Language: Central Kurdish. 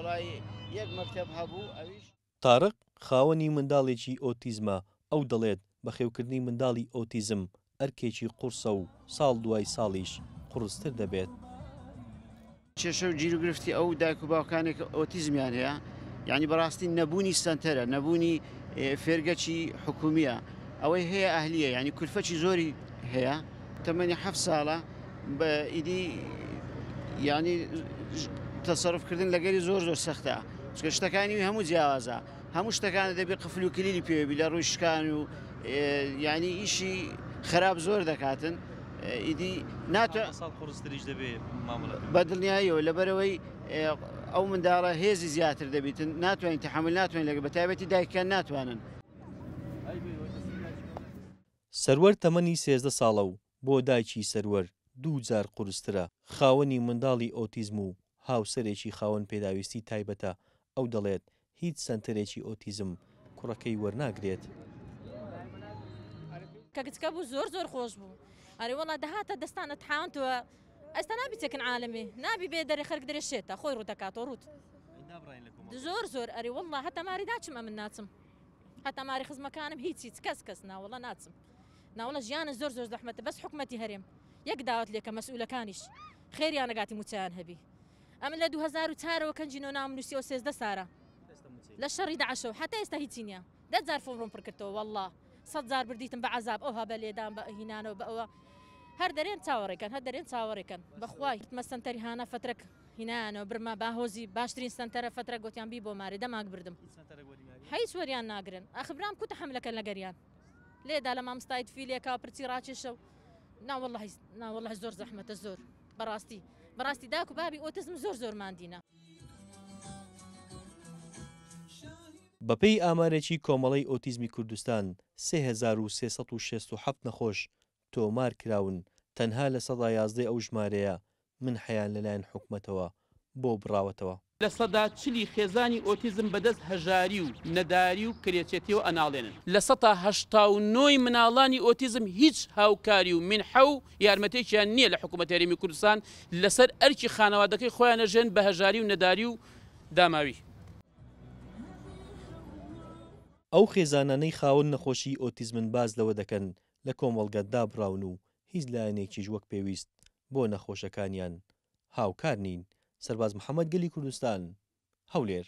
وەڵای یەک مەکتەب هەبوو ئەویش. تارق خاوەنی منداڵێکی ئۆتیزمە، ئەو دەڵێت بەخێوکردنی منداڵی ئۆتیزم ئەرکێکی قوڕسە و ساڵ دوای ساڵیش قوڕستر دەبێت. کێشە و گیروگرفتی ئەو دایک و باوکانێک کە ئۆتیزمیان هەیە یعنی بەڕاستی نەبوونی سەنتەرە نەبوونی فێرگەکی حکومیە ئەوەی هەیە ئەهلیە یعنی کولفەکی زۆری هەیە تەمەنی هەفت ساڵە بە ئیدی یعنی تەسەرف کردن لەگەری زۆر زۆر سەختە چونکە شتەکانی هەموو جیاوازە هەموو شتەکانە دەبێ قفل و کلیلی پێوە بی لە ڕووی شکان و یعنی ئیشی خراپ زۆر دەکاتن ئیدی ناتوان ساڵ قورستریش دەبێ مامەڵە بە دڵنیاییەوە لەبەرەوەی ئەو منداڵە هێزی زیاتر دەبیتن ناتوانین تحمل ناتوانین لەگە بە تایبەتی دایکان ناتوانن. سەروەر تەمەنی 13 ساڵە و بۆ دایکی سەروەر دوو جار قورسترە، خاوەنی منداڵی ئۆتیزم و هاوسەرێکی خاوەن پێداویستی تایبەتە، ئەو دەڵێت هیچ سەنتەرێکی ئۆتیزم کوڕەکەی وەرناگرێت. کە گچکە بوو زۆر زۆر خۆش بوو ئەرێ وەڵا دەهاتە دەستان ئەتحاوەنتەوە ئێستا نابی چەکن عالەمێ نابی بێ دەرێ خەرک دەرێ شێتە خۆی ڕوو دەکاتەوە ڕووت زۆر زۆر ئەرێ وەڵا هەتا ماری ناچم ئەمن ناچم هەتا ماری خزمەکانم هیچ هیچ کەس کەس ناوەڵا ناچم ناوەڵا ژیانە زۆر زۆر زەحمەتە بەس حکومەتی هەرێم یەک داوات لێکە مەسئولەکانیش خێریانەگاتی موچەیان هەبی ئەمن لە 2004 ەوە کەنجی نۆ ناوم نووسیەوە 13 سارە لە شەڕی داعشەوە حتا ئێستا هیچی نییە دە جار فۆڕم پڕ کردەوە والله سەد جار بردیتم بە عەزاب ئەوها بە لێدان بە هینانەوە بە ئەوە هەر دەرێن چاوەڕێکەن هەر دەرێن چاوەڕێکەن بەخوای مە سەنتەری هانا فەترەک هینانەوە برما باهۆزی باشترین سەنتەرە فەترە گوتیان بی بۆ مارێ دەماک بردم هیچ وەریان ناگرن ئەخ برام کوتە حەملەکەن لەگەریان لێدا لە مامۆستای تفیلێکا پرچی ڕاکێشە و ناوەڵی ناوەڵی زۆر زەحمەتە زۆر بەڕاستی بەڕاستی داک و بابی ئۆتزم زۆر زۆر ماندینە. بەپێی ئامارێکی کۆمەڵەی ئۆتیزمی کوردستان 3367 نەخۆش تۆمار کراون، تەنها 11% ئەو ژمارەیە منحەیان لەلایەن حکومەتەوە بۆ بڕاوەتەوە. لە سەدا چلی خێزانی ئۆتیزم بەدەست هەژاری و نەداری و کرێچێتیەوە ئەناڵێنن. لە سەتا 89 ی مناڵانی ئۆتیزم هیچ هاوکاری و مینحە و یارمەتێکیان نییە لە حکوومەتی هەرێمی کوردستان لەسەر ئەرکی خانەوادەکەی خۆیان ئەژێن بە هەژاری و نەداری و داماوی. ئەو خێزانانەی خاوەن نەخۆشیی ئۆتیزمن باس لەوە دەکەن لە کۆمەڵگە دابڕاون و هیچ لایەنێکیش وەک پێویست بۆ نەخۆشەکانیان هاوکار نین. سەرباز محەمەد گەلی کوردستان، هەولێر.